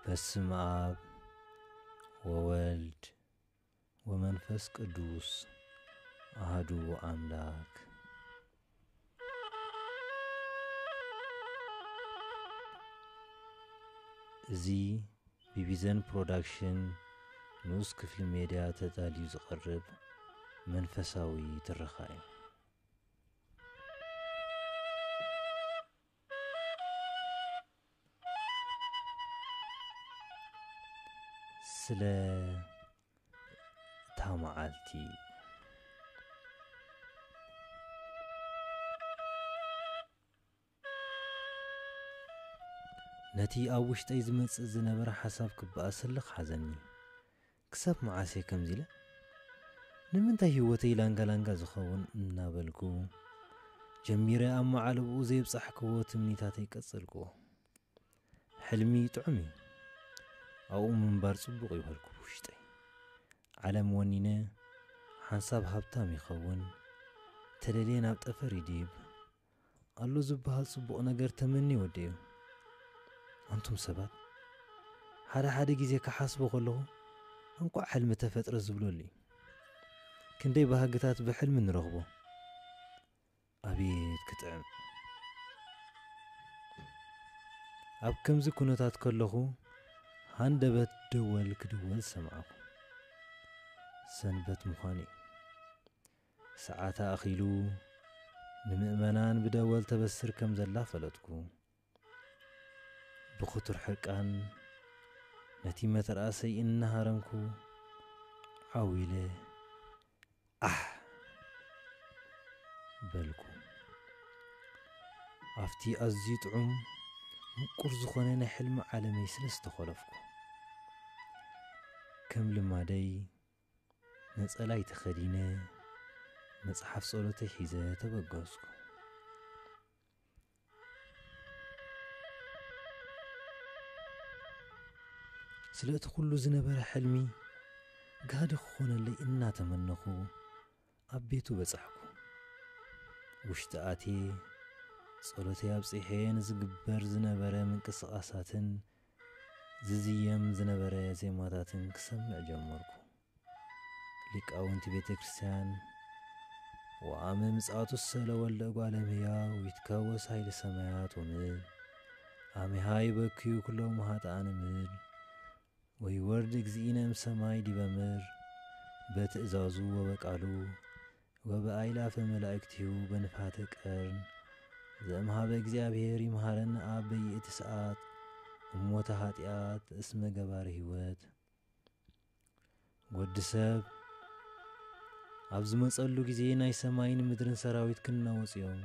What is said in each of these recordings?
በስመ አብ ወወልድ ወመንፈስ ቅዱስ አሐዱ አምላክ። እዚ ብቢዘን ፕሮዳክሽን ንኡስ ክፍሊ ሜድያ ተዳልዩ ዝቐርብ መንፈሳዊ ትረኻ እዩ። ስለ እታ መዓልቲ። ነቲ ኣብ ውሽጠይ ዝመጽእ ዝነበረ ሓሳብ ክበኣሰለኽ ሓዘኒ። ክሳብ መዓስ እየ ከምዚ ኢለ? ንምንታይ ህይወተይ ላንጋ ላንጋ ዝኸውን እናበልኩ ጀሚረ ኣብ መዓለብኡ ዘየብጻሕክዎ ትምኒታተይ ቀጸልክዎ። ሕልሚ ጥዑም እዩ። ኣብኡ ምንባር ጽቡቕ እዩ በልኩ ብውሽጠይ። ዓለም ወኒነ፣ ሓንሳብ ሃብታም ይኸውን፣ ተደልየ ናብ ጠፈር ይድይብ፣ ኣሎ ዝበሃል ጽቡቕ ነገር ተመኒ ወደዩ። ኣንቱም ሰባት፣ ሓደ ሓደ ግዜ ክሓስቦ ከለኹ፣ እንቋዕ ሕልሚ ተፈጥረ ዝብለሉ እዩ። ክንደይ ባህግታት ብሕልሚ ንረኽቦ። ኣቤት ክጥዕም። ኣብ ከምዚ ኩነታት ከለኹ፣ ሃንደበት ደወል ክድወል ሰማዕኩ። ሰንበት ምዃኑ እዩ። ሰዓት ኣኺሉ ንምእመናን ብደወል ተበስር ከም ዘላ ፈለጥኩ። ብኽቱር ሕርቃን ነቲ መተርኣሰይ እናሃረምኩ ዓው ኢለ ኣሕ በልኩ። ኣብቲ ኣዝዩ ጥዑም ምቁር ዝኾነ ናይ ሕልሚ ዓለመይ ስለ ዝተኾለፍኩ፣ ከም ልማደይ ነጸላይ ተኸዲነ መጽሓፍ ጸሎተይ ሒዘ ተበገስኩ። ስለ እቲ ኩሉ ዝነበረ ሕልሚ ጋህዲ ክኾነለይ እናተመነኹ ኣብ ቤቱ በጻሕኩ። ውሽጢ ኣትየ ጸሎተይ ኣብጺሐ ንዝግበር ዝነበረ ምንቅስቓሳትን ዝዝየም ዝነበረ ዜማታትን ክሰምዕ ጀመርኩ። ሊቃውንቲ ቤተ ክርስቲያን ወአመ ምጽአቱ ሰለ ወልደ እጓለ እመሕያው ይትከወስ ኃይለ ሰማያት ወምድር፣ አሜሃ ይበክዩ ኩሎም ኃጥኣን ምድር፣ ወይወርድ እግዚእነ እምሰማይ ዲበ ምድር፣ በትእዛዙ ወበቃሉ ወበአይላፈ መላእክቲሁ በንፋተ ቀርን ዘእምሃበ እግዚአብሔር ይምሃረነ አብ በይእቲ ሰዓት እሞተ ኃጢአት እስመ ገባሪ ሕይወት። ወዲ ሰብ ኣብ ዝመጸሉ ግዜ ናይ ሰማይን ምድርን ሰራዊት ክናወጹ እዮም።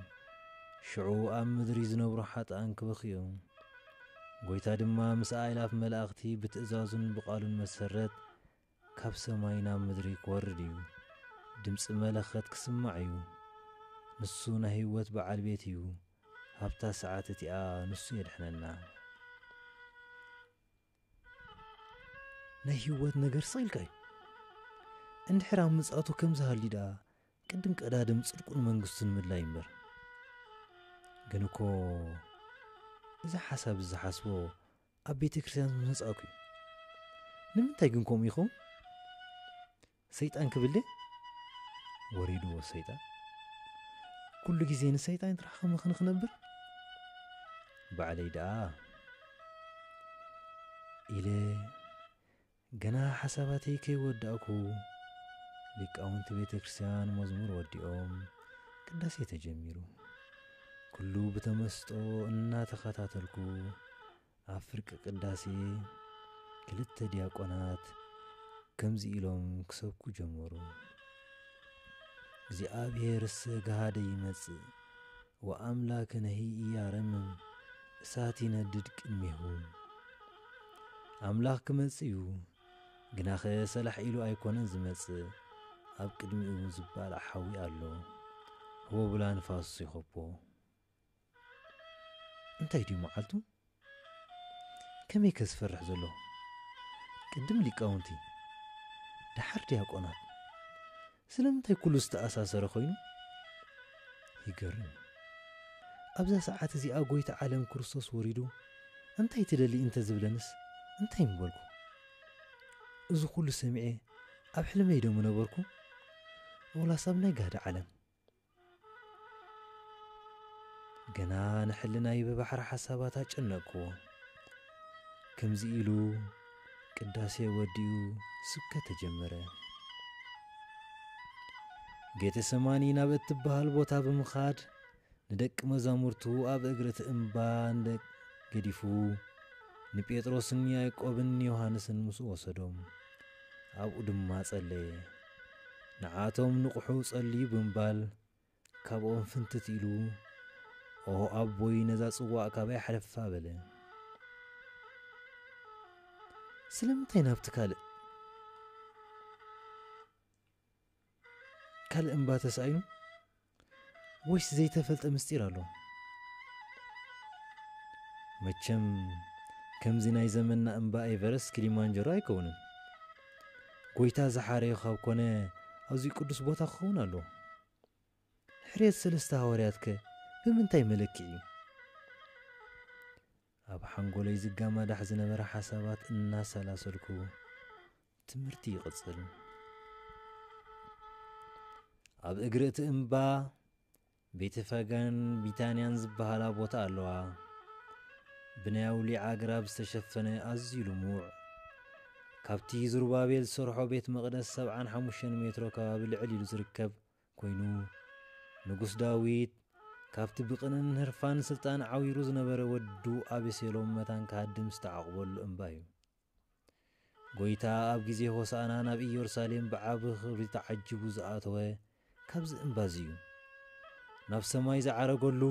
ሽዑ ኣብ ምድሪ ዝነብሩ ሓጥኣን ክበኽዩ እዮም። ጐይታ ድማ ምስ ኣእላፍ መላእኽቲ ብትእዛዙን ብቓሉን መሰረት ካብ ሰማይ ናብ ምድሪ ክወርድ እዩ። ድምጺ መለኸት ክስማዕ እዩ። ንሱ ናይ ህይወት በዓል ቤት እዩ። ኣብታ ሰዓት እቲኣ ንሱ የድሕነና። ናይ ህይወት ነገር ስቕ ኢልካ እዩ። እንድሕር ኣብ ምጽኣቱ ከም ዝሃልዩ ደኣ ቅድም ቀዳድም ጽድቁን መንግስቱን ምድላይ እምበር። ግን እኮ እዚ ሓሳብ እዚ ዝሓስቦ ኣብ ቤተ ክርስቲያን ምስ መጻእኩ እዩ። ንምንታይ ግን ከምኡ ይኸውን? ሰይጣን ክብል ድየ? ወሪድዎ ሰይጣን። ኩሉ ግዜ ንሰይጣን ጥራሕ ከመኽኒ ክነብር? ባዕለይ ደኣ ኢለ ገና ሓሳባተይ ከይወዳእኩ ሊቃውንቲ ቤተ ክርስቲያን መዝሙር ወዲኦም ቅዳሴ ተጀሚሩ። ኩሉ ብተመስጦ እናተኸታተልኩ ኣብ ፍርቂ ቅዳሴ ክልተ ዲያቆናት ከምዚ ኢሎም ክሰብኩ ጀመሩ። እግዚኣብሔርሰ ገሃደ ይመጽእ ወአምላክነሂ ኢያረምም እሳት ይነድድ ቅድሜሁ። ኣምላኽ ክመጽእ እዩ፣ ግናኸ ሰላሕ ኢሉ ኣይኮነን ዝመጽእ፣ ኣብ ቅድሚኡ ዝባላዕ ሓዊ ኣሎ፣ ህቦብላ ንፋስ ይኸቦ። እንታይ ድዩ መዓልቱ? ከመይ ከ ዝፈርሕ ዘሎ? ቅድም ሊቃውንቲ፣ ደሓር ዲያቆናት። ስለምንታይ ኩሉ ዝተኣሳሰረ ኮይኑ? ይገርም። ኣብዛ ሰዓት እዚኣ ጐይታ ዓለም ክርስቶስ ወሪዱ፣ "እንታይ ትደሊ?" እንተ ዝብለንስ፣ እንታይ ምበልኩ? እዚ ኩሉ ሰሚዐ ኣብ ሕልመይ ዶ ምነበርኩ? ወላስ ኣብ ናይ ጋህዲ ዓለም? ገና ንሕልናይ ብባሕሪ ሓሳባት ኣጨነቕክዎ። ከምዚ ኢሉ ቅዳሴ ወዲኡ ስብከት ተጀመረ። ጌተሰማኒ ናብ እትበሃል ቦታ ብምኻድ ንደቂ መዛሙርቱ ኣብ እግሪ እቲ እምባ እንደ ገዲፉ ንጴጥሮስን ያዕቆብን ዮሃንስን ምስኡ ወሰዶም። ኣብኡ ድማ ጸለየ። ንዓቶም ንቑሑ ጸልዩ ብምባል ካብኦም ፍንትት ኢሉ፣ "ኦ ኣቦይ፣ ነዛ ጽዋእ ካባይ ሓለፋ" በለ። ስለምንታይ ናብቲ ካልእ ካልእ እምባ ተሳኢኑ? ወይስ ዘይተፈልጠ ምስጢር ኣሎ? መቸም ከምዚ ናይ ዘመንና እምባ ኤቨረስት፣ ኪሊማንጀሮ ኣይከውንን። ጎይታ ዝሓረዮ ካብ ኮነ፣ ኣብዚ ቅዱስ ቦታ ክኸውን ኣሎ። ሕርየት ሰለስተ ሃዋርያትከ ብምንታይ መለክዒ እዩ? ኣብ ሓንጎለይ ዝጋማዳሕ ዝነበረ ሓሳባት እናሰላሰልኩ ትምህርቲ ይቕጽል። ኣብ እግሪ እቲ እምባ ቤተፋጋን ቢታንያን ዝበሃላ ቦታ ኣለዋ። ብናይ ኣውሊዕ ኣግራብ ዝተሸፈነ ኣዝዩ ልሙዕ፣ ካብቲ ዝሩባቤል ዝሰርሖ ቤት መቕደስ ሰብዓን ሓሙሽተን ሜትሮ ከባቢ ልዕል ኢሉ ዝርከብ ኮይኑ፣ ንጉስ ዳዊት ካብቲ ብቕንን ህርፋን ስልጣን ዓዊሩ ዝነበረ ወዱ ኣቤሴሎም መታን ክሃድም ዝተዓቑበሉ እምባ እዩ። ጎይታ ኣብ ግዜ ሆሳዕና ናብ ኢየሩሳሌም ብዓቢ ክብሪ ተዓጂቡ ዝኣተወ ካብዚ እምባ እዚ እዩ። ናብ ሰማይ ዝዓረገሉ፣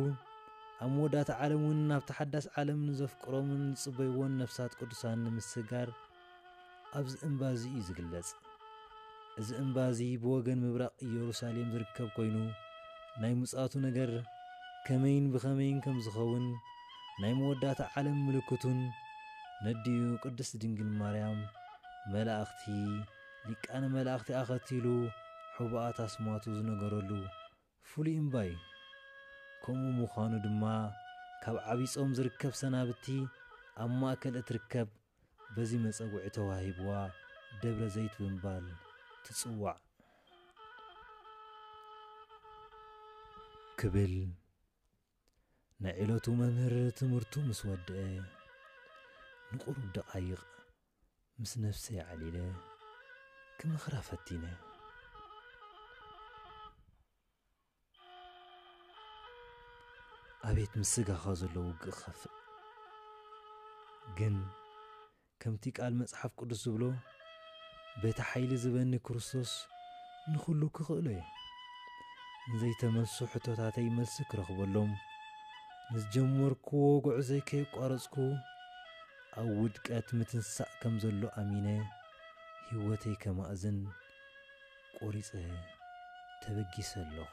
ኣብ መወዳእታ ዓለም እውን ናብታ ሓዳስ ዓለም ንዘፍቅሮምን ዝጽበይዎን ነፍሳት ቅዱሳን ንምስግጋር ኣብዚ እምባ እዚ እዩ ዝግለጽ። እዚ እምባ እዚ ብወገን ምብራቕ ኢየሩሳሌም ዝርከብ ኮይኑ፣ ናይ ምጽኣቱ ነገር ከመይን ብኸመይን ከም ዝኸውን፣ ናይ መወዳእታ ዓለም ምልክቱን፣ ነዲኡ ቅድስት ድንግል ማርያም፣ መላእኽቲ፣ ሊቃነ መላእኽቲ ኣኸቲሉ ሕቡኣት ኣስማቱ ዝነገረሉ ፍሉይ እምባ እዩ። ከምኡ ምዃኑ ድማ፣ ካብ ዓብዪ ጾም ዝርከብ ሰናብቲ ኣብ ማእከል እትርከብ፣ በዚ መጸውዒ ተዋሂብዋ ደብረ ዘይት ብምባል ትጽዋዕ። ክብል ናይ ዕለቱ መምህር ትምህርቱ ምስ ወድአ፣ ንቁሩብ ደቓይቕ ምስ ነፍሰይ ዓሊለ ክመኽራ ፈቲነ። ኣቤት ምስ ስጋኻ ዘሎ ውግእ ክኸፍእ! ግን ከምቲ ቃል መጽሓፍ ቅዱስ ዝብሎ፣ በቲ ሓይሊ ዝበኒ ክርስቶስ ንኹሉ ክኽእሎ እየ። ንዘይተመልሱ ሕቶታተይ መልሲ ክረኽበሎም፣ ንዝጀመርክዎ ጉዕዞይ ከየቋረጽኩ፣ ኣብ ውድቀት ምትንሳእ ከም ዘሎ ኣሚነ፣ ህይወተይ ከማእዝን ቆሪጸ ተበጊሰ ኣለኹ።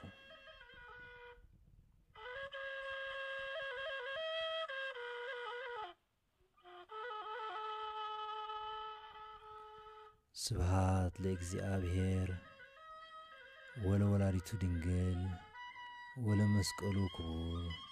ስብሃት ለእግዚኣብሔር ወለወላዲቱ ድንግል ወለመስቀሉ ክቡር።